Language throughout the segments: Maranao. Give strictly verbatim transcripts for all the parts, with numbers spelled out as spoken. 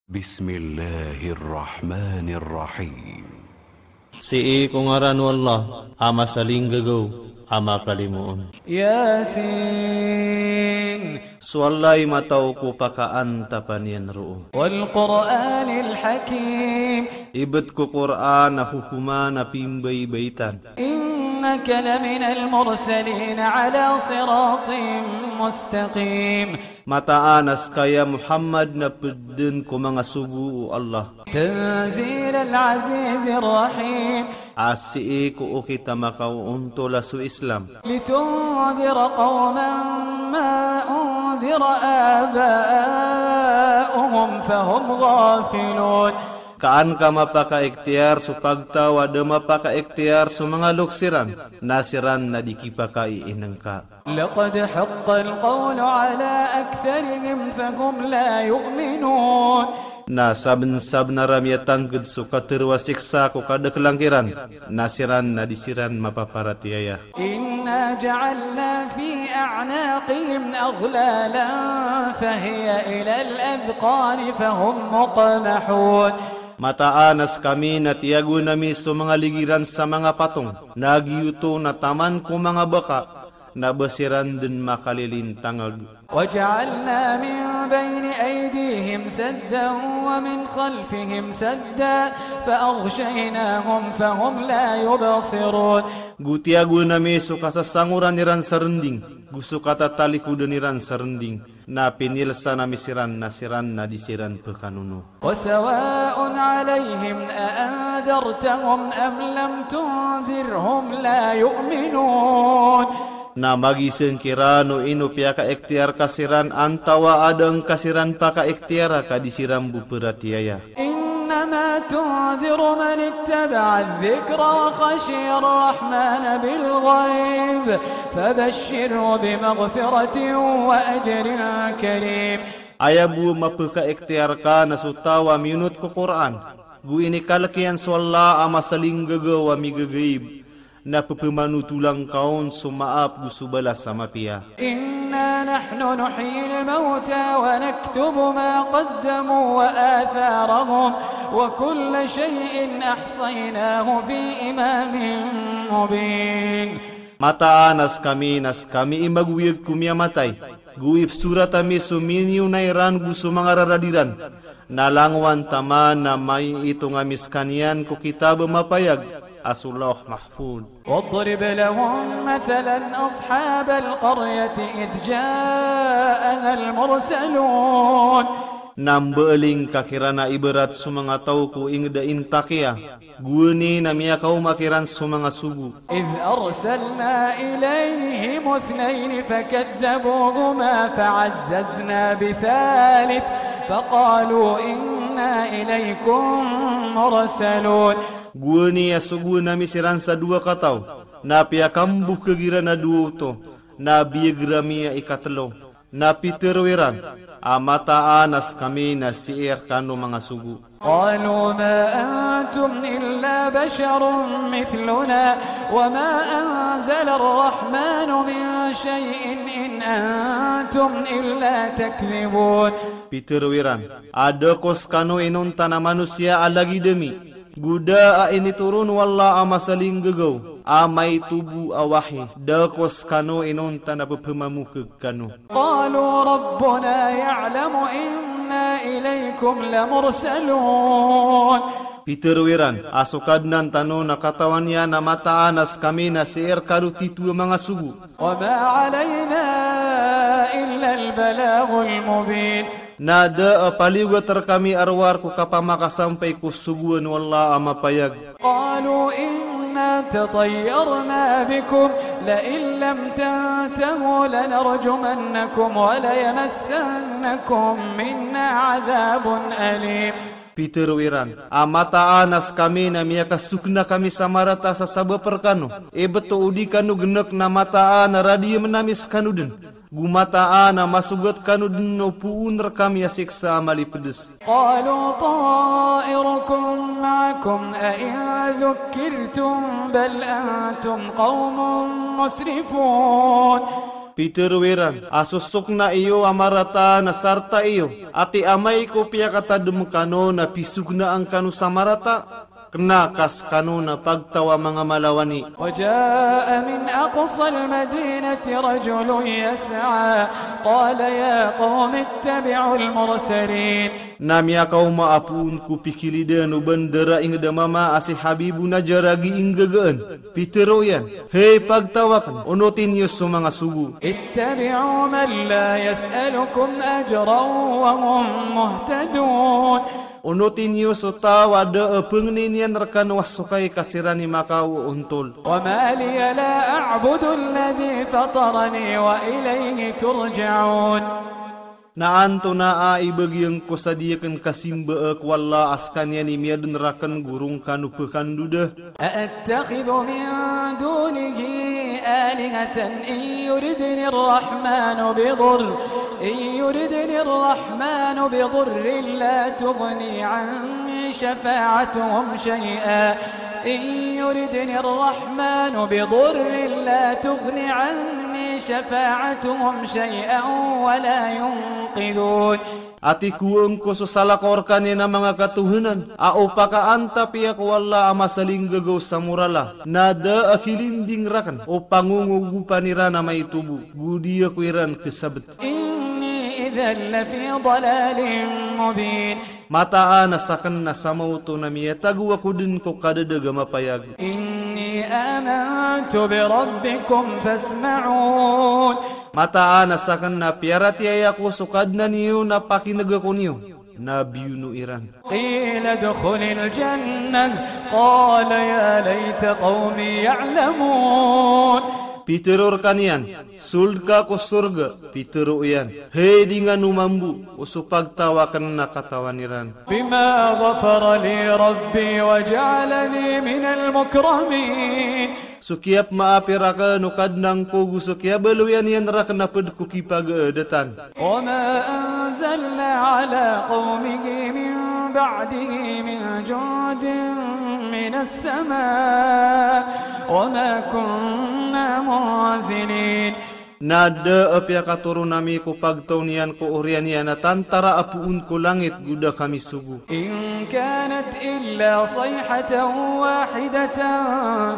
Bismillahir Rahmanir Rahim. Sii ko ngaran o Allah a masalinggagaw a makalimoon. Yasin. So Allah i mataw ko pakaantapan iyan roo. Wal Qur'anil Hakim. Ibt ko Qur'an a hokoman a pimbaybaitan. Innaka laminal mursalin ala siratin mustaqim. Mataan a ska i ya Muhammad na pd dn ko manga sogo o Allah. Tanzilal azizir rahim. A sii ko okit a makaoontola so Islam. Litundhira qawman ma undhira aba'uhum fahum ghafilun. Ka an ka mapakaikhtiyar so pagtaw a da mapakaikhtiyar so manga loks iran, na siran na di kipakaiinngka. Laqad haqqal qawlu ala aktharihim fahum la yu'minun. Na sabnsabnar a miyatangkd so katharo a siksa ko kadaklan kiran, na siran na di siran mapaparatiyaya. Inna ja'alna fi a'naqihim aghlalan fahiya ilal adhqani fahum muqmahun. Mataan a skami na tiyagoan ami so manga ligi ran sa manga patong, na giyoto na taman ko manga baka, na ba siran dn makalilintangag. Wa ja'alna min bayni aydihim saddan wa min khalfihim saddan fa aghshaynahum fahum la yubsirun. Go tiyagoan ami so kasasangoran iran sa rnding, go so katatalikodan iran sa rnding, na pinilsan ami siran na siran na di siran pkanono. Wa sawa'un alayhim a anzartahum am lam tunzirhum la yu'minun. Na magisng kiran o ino piyakaikhtiyar ka siran antawa a da ngka siran pakaikhtiyara ka di siran bo pratiyaya. Innama tunziru man ittaba'adh dhikra wa khashiyar rahmana bil ghayb fabashshirhu bimaghfiratin wa ajrin karim. Aya bo a mapkhaikhtiyar ka na so taw a miyonot ko Qur'an, go inikalk iyan so Allah a masalinggagaw a migagaib, na pphmanotola ngka on so maap go so balas a mapiya. Inna nahnu nuhyil mawta wa naktubu ma qaddamu wa atharahum wa kulla shay'in ahsaynahu fi imamin mubin. Mataan a skami na skami i magoyag ko miyamatay, go ipsorat ami so miniyona iran go so manga rarad iran, na langowan taman na maiitong ami skaniyan ko kitab a mapayag a so Lawh Mahfudh. Wadrib lahum mathalan ashabal qaryati idh ja'ahal mursalun. Na mbaaling ka kiran a ibarat so manga taw ko ingd a intakiya, gowani na miyakaoma kiran so manga sogo. Idh arsalna ilayhim ithnayni fakadhdhabuhuma fa'azzazna bithalith faqalu inna ilaykum mursalun. Gowani a sogoan ami siran sa dowa kataw, na piyakambokag iran a dowa oto, na biyag rami a ikatlo. Na pitharo iran a mataan a skami na sii rkano manga sogo. Qalu ma antum illa basharun mithluna wa ma anzalar rahmanu min shay'in in antum illa takdhibun. Pitharo iran a da ko skano inonta na manosiya a lagid ami, go da a initoron o Allah a masalinggagaw a maito bo a wahi, da ko skano inonta na pphmamokag kano. Qalu rabbuna ya'lamu inna ilaykum lamursalun. Pitharo iran a so Kadnan tano na katawan iyan a mataan a skami na sii rkano titho a manga sogo. Wa ma alayna illal balaghul mubin. Na da a paliyogat rkami a rowar ko kapamakasampay ko sogoan o Allah a mapayag. Qalu inna tatayyarna bikum la in lam tantahu lanarjumannakum wa layamassannakum minna adhabun alim. Pitharo iran a mataan a skami na miyakasokna kami sa marata sa sabap rkano. Ibt o di kano gnk na mataan a radiyamn ami skano dn. Go mataan a masogat kano dn o poon rkami a siksa a malipds. Qalu ta'irukum ma'akum a in dhukkirtum bal antum qawmun musrifun. Pitharo iran a so sokna iyo a marata na sarta iyo, ati amay ko piyakatadem kano na pisognaan kano sa marata, kena ka sekano na pagtaw a manga malawani. وجاء من أقصى المدينة رجل يسعى قال يا قوم اتبعوا المرسلين. Na miyakaoma a poon ko pikilidan o bandara inged a mama a si Habibu Najjar a gii nggagaan. Pitharo iyan, hay pagtaw aken, onoti niyo so manga sogo. اتبعوا من لا يسألكم أجرا وهم مهتدون. Onoti niyo so taw a da a pengnin iyan rekano a sokay ka siran i makaontol. وما لي لا أعبد الذي فطرني وإليه ترجعون. Na antonaa i bagian ko sa di aken kasimbaa ko Allah a sekaniyan i miyaden raken go roo kano pekandoda. أأتخذ من دونه آلهة إن يردن الرحمن بضر، إن يردن الرحمن بضر لا تغن عني شفاعتهم شيئا، إن يردن الرحمن بضر لا تغن عني شفاعتهم شيئا ولا ينقذون. Ati ko angko so salakaw rekaniyan a manga katohanan a o pakaantapiya ko Allah a masalinggagaw sa morala, na da a kilinding raken o pangongogopan iran a maitobo, go di ako iran kesabet. إني إذا لفي ضلال مبين. Mataan a saken na samaoto na miyatago ako den ko kadadag a mapayag. إني آمنت بربكم فاسمعون. Mataan a saken na piyaratiyaya ako so Kadnan iyo na pakinega ako niyo, na biyono iran. قيل ادخل الجنة قال يا ليت قومي يعلمون. Pitharo rekaniyan, sold ka ko sorga. Pitharo iyan, hay di ngano mambo o so pagtaw aken na katawan iran. بما غفر لي ربي وجعلني من المكرمين. So kiyapmaap raken o Kadnan ko go so kiyabaloyan iyan raken a ped ko kipagaadatan. وما أنزلنا على قومه من بعده من جند من السماء وما كنا منزلين. Na da a piyakatoron ami ko pagtaw niyan ko oriyan iyan a tantara a poon ko langit go da kami sogo. إن كانت إلا صيحة واحدة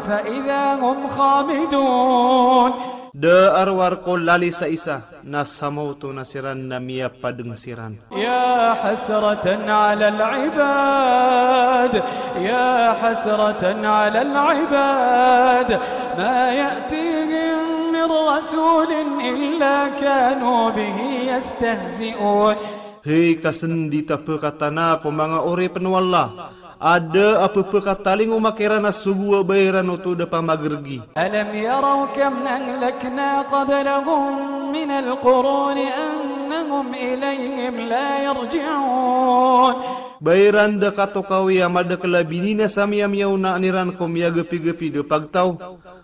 فإذا هم خامدون. Da a rowar ko lalis a isa, na samaoto na siran na miyapadeng siran. يا حسرة على العباد، يا حسرة على العباد، ما يأتيهم من رسول إلا كانوا به يستهزئون. Hay kasendit a pekatana ko manga oripen o Allah, a da a pepekatalingoma kiran a sogo a ba iran oto da pamageregi. ألم يروا كم أهلكنا قبلهم من القرون أنهم إليهم لا يرجعون. Ba iran da katokawi a madakel a bininasa a miyamiyaona iran ko miyagepigepi da pagtaw,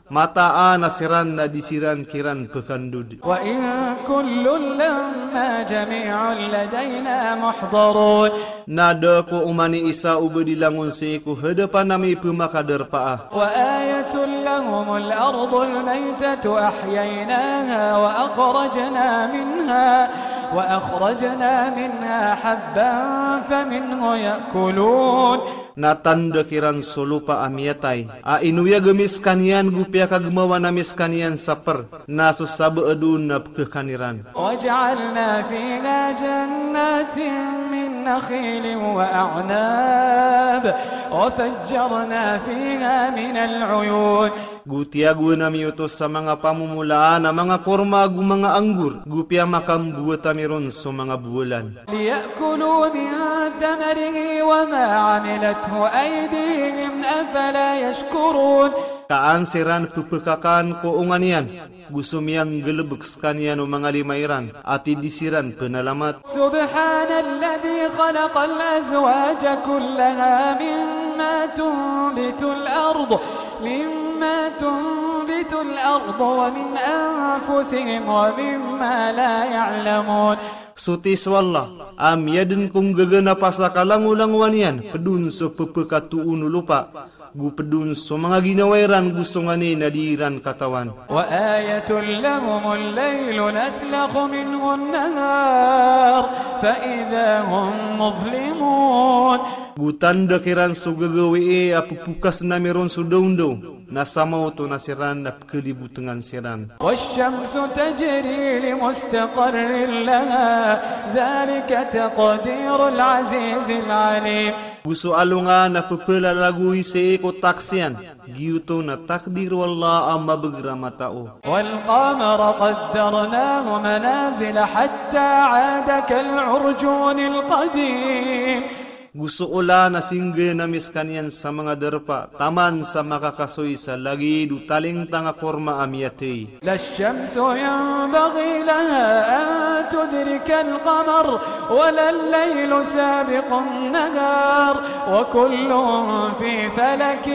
mataan a siran na di siran kiran pekandod. وإن كل لما جميع لدينا محضرون. Na da ko oman i isa o ba di langon sii ko hadapan ami pemakadarpaa. وآية لهم الأرض الميتة أحييناها وأخرجنا منها، وأخرجنا منها حبا فمنه يأكلون. Na tanda kiran so lopa a miyatay a inoyag ami sekaniyan go piyakagemawan ami sekaniyan sa per, na so sabaad on na pekekan iran. وجعلنا فيها جنات من نخيل وأعناب وفجرنا فيها من العيون. Go tiyagoan ami oto sa manga pamomolaan a manga korma go manga anggur, go piyamakamboat ami ron so manga bowalan. ليأكلوا من ثمره وما عملته أيديهم أفلا يشكرون. Ka an siran pepekakan ko onga niyan, go so miyanggalebek sekaniyan o manga lima iran, ati di siran penalamat. سبحان الذي خلق الأزواج كلها مما تنبت الأرض، مما تنبت الأرض ومن أنفسهم ومما لا يعلمون. Soti so Allah a miyaden ko nggaga na pasakalangolangowan iyan, ped on so pepekatoon o lopa, Go ped on so manga ginawa iran go so nganin a di iran katawan. وآية لهم الليل نسلخ منه النهار فإذا هم مظلمون. Go tanda kiran so gagawii a pepokasen ami ron so dawndaw, na samaoto na siran na pekelibotengan siran. والشمس تجري لمستقر لها ذلك تقدير العزيز العليم. Go so alongan a pepelalagoy sii ko taksiyan, giyoto na takdir o Allah a mabegr a matao. والقمر قدرناه منازل حتى عاد كالعرجون القديم. Go so olan a singgn ami sekaniyan sa manga darpa, taman sa makakasoy sa lagid o talingtang a korma a miyathay. لا الشمس ينبغي لها أن تدرك القمر ولا الليل سابق النهار وكل في فلك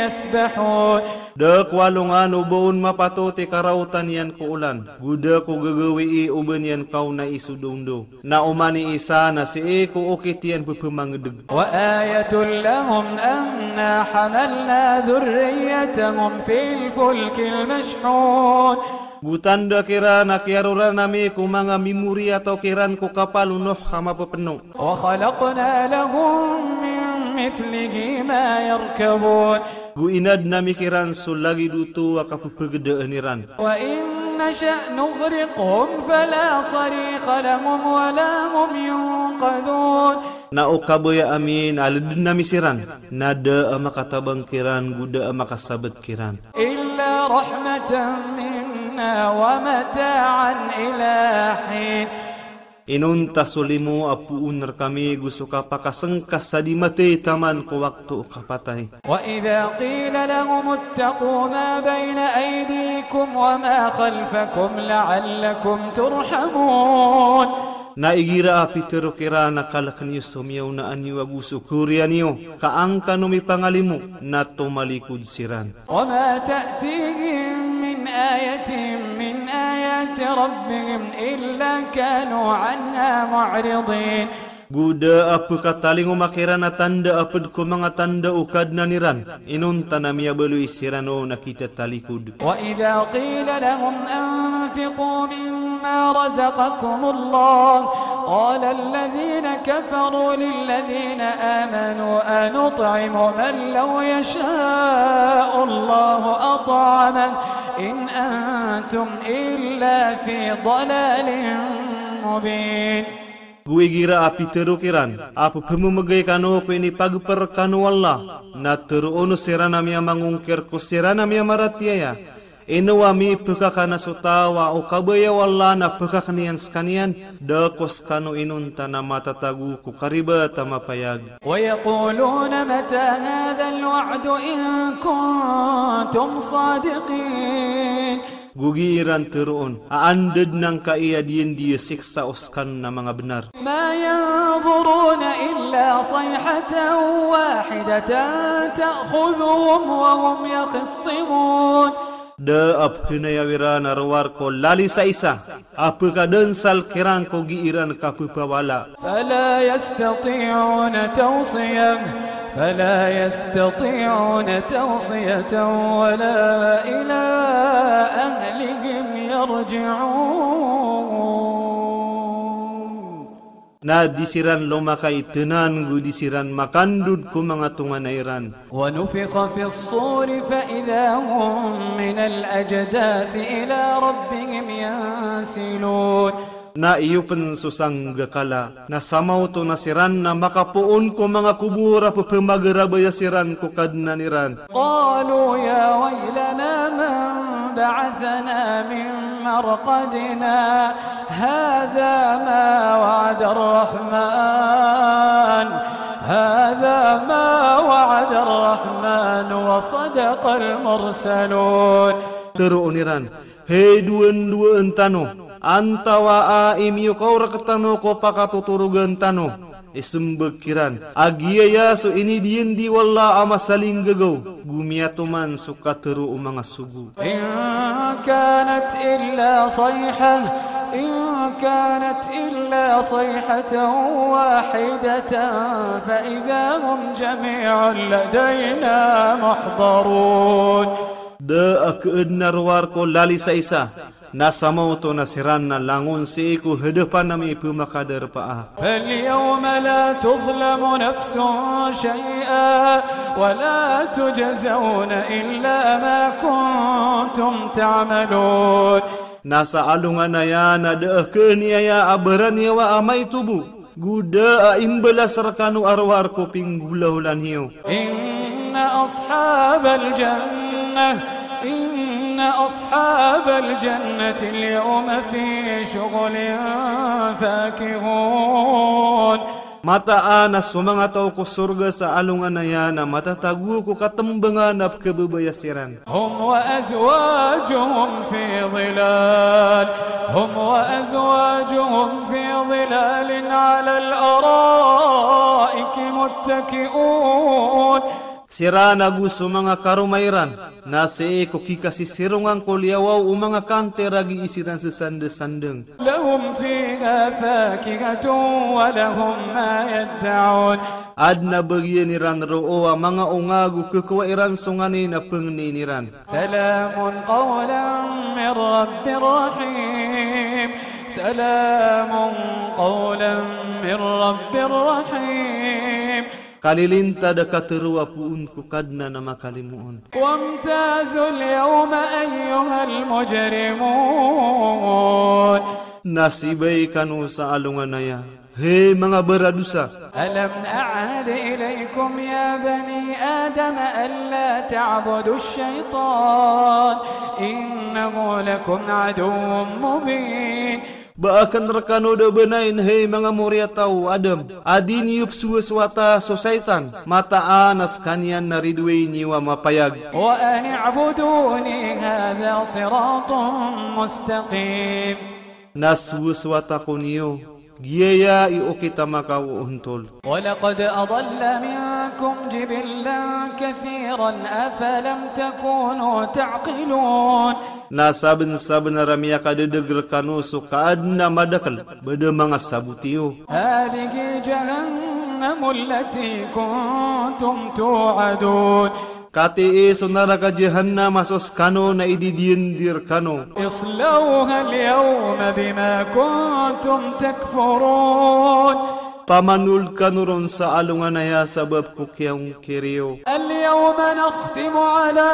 يسبحون. Da ko alongan o ba on mapatot i karaotan iyan ko olan, go da ko gagawii o ba niyan kaonai so dawndaw. Na oman i isa na sii ko okit iyan pepemangedeg. وآية لهم أنا حملنا ذريتهم في الفلك المشحون. Go tanda kiran a kiyaroran ami ko manga mimoriyataw kiran ko kapal o Nuh a mapepeno. وخلقنا لهم من مثله ما يركبون. Go inadn ami kiran so lagid oto a kapepegedaan iran. وإن نشأ نغرقهم فلا صريخ لهم ولا هم ينقذون. Na o kabaya ami na ledn ami siran, na da a makatabang kiran go da a makasabt kiran. إلا رحمة منا ومتاعا إلى حين. Inonta so limo a poon rekami go so kapakasengka sa di mathay taman ko wakto o kapatay. وإذا قيل لهم اتقوا ما بين أيديكم وما خلفكم لعلكم ترحمون. Na igira a pitero kiran a kalek niyo so miyaonaan iyo ago so koriyan iyo, ka an kano mipangalimo, na tomalikod siran. وما تأتيهم من آية من آيات ربهم إلا كانوا عنها معرضين. Go da a pekatalingoma kiran a tanda a ped ko manga tanda o Kadnan iran, inonta na miyabaloy siran on a kitatalikod. وإذا قيل لهم أنفقوا مما رزقكم الله قال الذين كفروا للذين آمنوا أنطعم من لو يشاء الله أطعمه إن أنتم إلا في ضلال مبين. Go igira a pitero kiran a pepememegay kano ko inipagper kano o Allah, na teroon siran a miyamangongkir ko siran a miyamaratiyaya, ino a mipekakana so taw a o kabaya o Allah na pekakn iyan sekaniyan, da ko sekano inonta na matatago ko karibat a mapayag. ويقولون متى هذا الوعد إن كنتم صادقين. Go gii ran teroon a anda dn angkai a diyandi a siksa o sekano na manga bnar. ما ينظرون إلا صيحة واحدة تأخذهم وهم يخصمون. Da a pekinayaw iran a rowar ko lali sa isa a pekadensal kiran ko gii ran kapepawala. فلا يستطيعون توصية، فلا يستطيعون توصية ولا إلى أهلهم يرجعون. Na di siran lomakay tenan go di siran makandod ko manga tonganay ran. ونفخ في الصور فإذا هم من الأجداث إلى ربهم ينسلون. Na iyopen so sanggakala, na samaoto na siran na makapoon ko manga kobor a pepemagarabaya siran ko Kadnan iran. قالوا يا ويلنا من بعثنا من مرقدنا هذا ما وعد الرحمن، هذا ما وعد الرحمن وصدق المرسلون. Teroon iran, hay dowandowan tano, antawaa i miyokaorek tano ko pakatotorogan tano. Isembag kiran a giyaya so inidiyandi o Allah a masalinggagaw, go miyatoman so katero o manga sogo. إن كانت إلا صيحة، إن كانت إلا صيحة واحدة فإذا هم جميع لدينا محضرون. Da a khaadn a rowar ko lalisaisa, na samaoto na siran na langon sii ko hadapan ami pmakadarpaa. فاليوم لا تظلم نفس شيئا ولا تجزون إلا ما كنتم تعملون. Na sa alongan aya na da a khaaniyaya a baraniyawa a maito bo, go da a imbalas rkano a rowar ko pinggolaola niyo. إن أصحاب الجنة، إن أصحاب الجنة اليوم في شغل فاكهون. Mataan a so manga taw ko sorga sa alongan aya na matatago ko katmbangan a pkhababaya siran. هم وأزواجهم في ظلال، هم وأزواجهم في ظلال على الأرائك متكئون. Siran ago so manga karoma iran na sii ko kikasisirongan ko liyawaw o manga kanter a gii siran sasandasandng. لهم فيها فاكهة ولهم ما يدعون. Adn a bagian iran roo a manga onga ago khakowa iran so nganin a pangnin iran. سلام قولا من رب رحيم. سلام قولا من رب رحيم. Kalilintad a katharo a poon ko Kadnan a makalimoon. وامتازوا اليوم أيها المجرمون. Na sibay kano sa alongan aya, hay manga baradosa. ألم أعهد إليكم يا بني آدم ألا تعبدوا الشيطان إنه لكم عدو مبين. Ba akn rkano da bnain, hay manga moriyataw o Adam, a di niyo psowasowata so shaytan, mataan a skaniyan na ridoay niyo a mapayag. وأن اعبدوني هذا صراط مستقيم. Na sowasowata ko niyo, giyaya i okit a makaoontol. ولقد أضل منكم جبلا كثيرا أفلم تكونوا تعقلون. Na sabnsabnar a miyakadadg rkano so kaadn a madakl, ba da manga sabot iyo. هذه جهنم التي كنتم توعدون. Katii so naraka Jahannam a so skano na ididiyandi rkano. اصلوها اليوم بما كنتم تكفرون. Pamanold kano ron sa alongan aya sabap ko kiyaongkir iyo. اليوم نختم على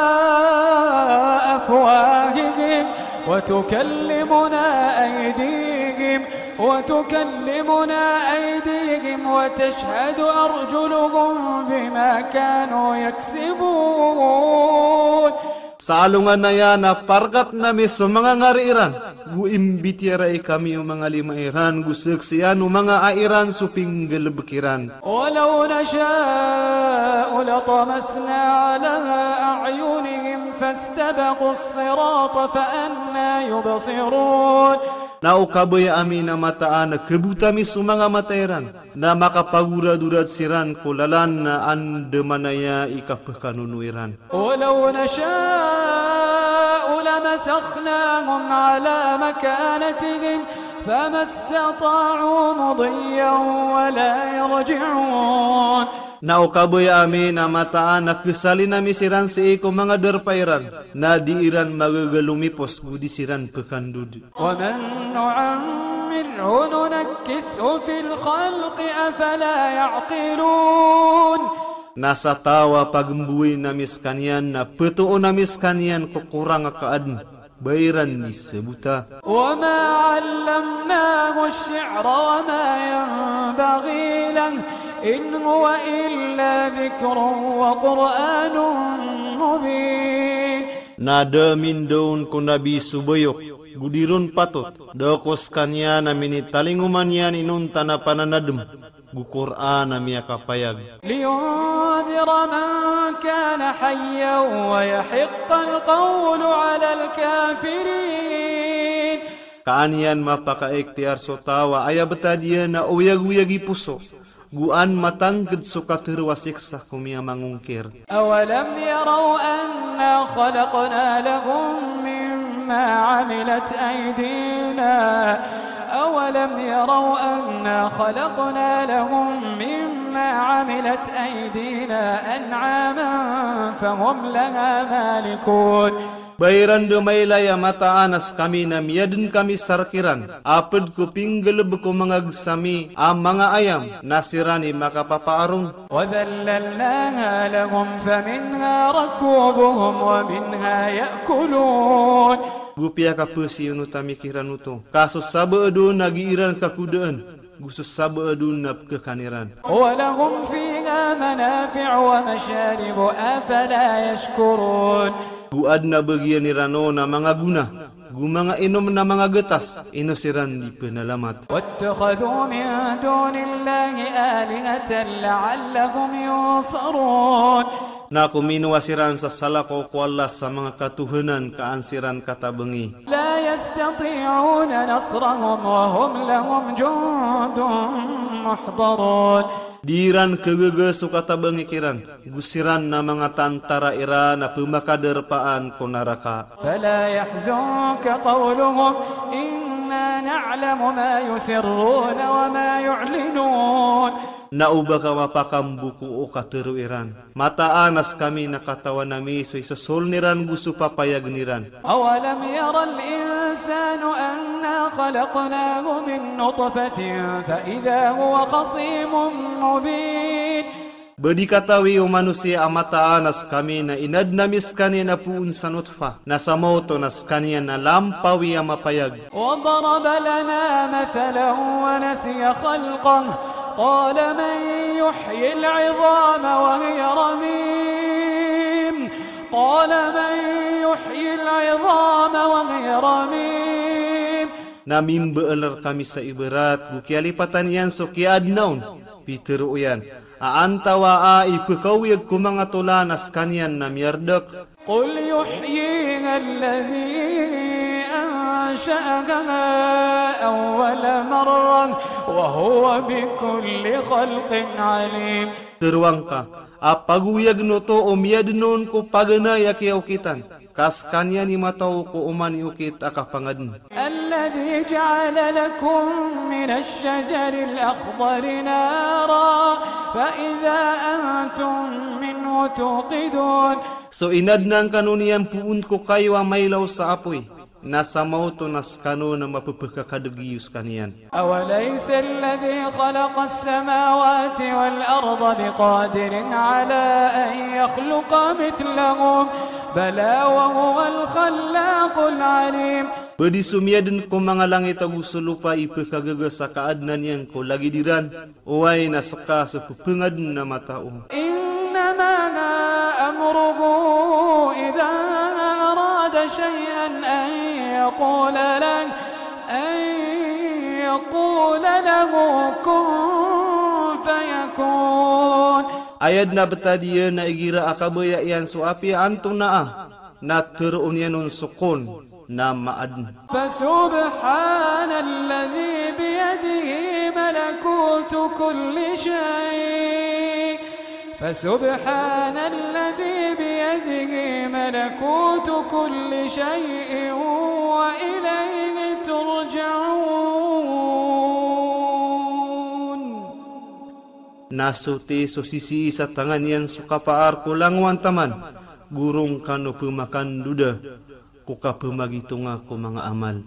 أفواههم وتكلمنا أيديهم وتكلمنا أيديهم وتشهد أرجلهم بما كانوا يكسبون. Sa alongan aya na parkatn ami so manga ngari iran, go imbitiyarai kami o manga lima iran, go saksian o manga ai iran so pinggalbk iran. ولو نشاء لطمسنا على أعينهم فاستبقوا الصراط فأنى يبصرون. Na o kabaya ami na mataan a khabota mi so manga mata iran, na makapagoradorad siran ko lalan na andamanaya i kapkhanono iran. ولو نشاء لمسخناهم على مكانتهم فما استطاعوا مضيا ولا يرجعون. Na o kabaya ami na mataan a khasalin ami siran sii ko manga darpa iran, na di iran magaga lomipos go di siran pkhandod. ومن نعمره ننكسه في الخلق أفلا يعقلون. Na sa taw a pagmbowayn ami skaniyan na ptoon ami skaniyan ko korang a kaadn, ba iran di sabota. وما علمناه الشعر وما ينبغي له إن هو إلا ذكر وقرآن مبين. Na da a mindaon ko Nabi so bayok, go di ron patot, da ko skaniyan a minitalingoma niyan inonta na pananadm, go Qur'an a miyakapayag. لينذر من كان حيا ويحق القول على الكافرين. Ka an iyan mapakaikhtiyar so taw a aya btad iyan na oyagoyag i poso, go an matangkd so katharo a siksa ko miyamangongkir. أولم يروا أنا خلقنا لهم مما عملت أيدينا، أو أولم يروا أنا خلقنا لهم مما عملت أيدينا أنعاما فهم لها مالكون. Ba iran dn mailay a mataan a skami na miyadn kami sa rk iran a pd ko pinggalbk o manga gsa mi a manga ayam, na siran i makapapaarong. وذللناها لهم فمنها ركوبهم ومنها يأكلون. Go piyakapasiyonotan ami kiran oto. Ka so sabaad on na gii ran kakodaan, go so sabaad on na pkhakan iran. ولهم فيها منافع ومشارب أفلا يشكرون. Go adn a bagian iran on a manga gona, go manga inom na manga gatas, ino siran di pnalamat. واتخذوا من دون الله آلهة لعلهم ينصرون. Na kominowa siran sa salakaw ko Allah sa manga katohanan ka an siran katabangi. لا يستطيعون نصرهم وهم لهم جند محضرون. Di iran khagaga so katabangi kiran, go siran na manga tantara iran a pmakadarpaan ko naraka. فلا يحزنك قولهم إنا نعلم ما يسرون وما يعلنون. Na oba ka mapakambo ko o katharo iran. Mataan a skami na katawan ami so isosoln iran go so papayagn iran. أولم ير الإنسان أنا خلقناه من نطفة فإذا هو خصيم مبين. Ba di katawi o manosiya a mataan a skami na inadn ami skaniyan a poon sa notfa, na sa maoto na skaniyan na lampawi a mapayag. وضرب لنا مثلا ونسي خلقه قال من يحيي العظام وهي رميم قال من يحيي العظام وهي رميم. Na mimbaal rkami sa ibarat go kiyalipatan iyan so kiyaadna on, pitharo iyan a antawaa i pkhaoyag ko manga tolan a skaniyan na miyardk. قل يحييها الذي أنشأها أول مرة وهو بكل خلق عليم. Tharoang ka a pagoyagn oto o miyadn on ko paganay a kiyaokitan, ka skaniyan i matao ko oman i okit a kapangadn. الذي جعل لكم من الشجر الأخضر نارا فإذا أنتم منه توقدون. So inadnan kano niyan poon ko kayo a mailaw sa apoy, na sa maoto na skano na mapphakadg iyo skaniyan. أوليس الذي خلق السماوات والأرض بقادر على أن يخلق مثلهم بلى وهو الخلاق العليم. Ba di so miyadn ko manga langit ago so lopa i pkhagaga sa kaadnan iyan ko lagid iran? Oway, na ska so pphangadn a matao. إنما أمره إذا أراد شيئا أن يقول له، أن يقول له كن فيكون. Aya dn a btad iyan na igira a kabaya iyan so apiya antonaa, na tharoon iyan on so kun, na maadn. فسبحان الذي بيده ملكوت كل شيء، فسبحان الذي بيده ملكوت كل شيء وإليه ترجعون. Na soti so sisii sa tangan iyan so kapaar ko langowan taman, go roo kano pmakandoda ko kapmagitonga ko manga amal.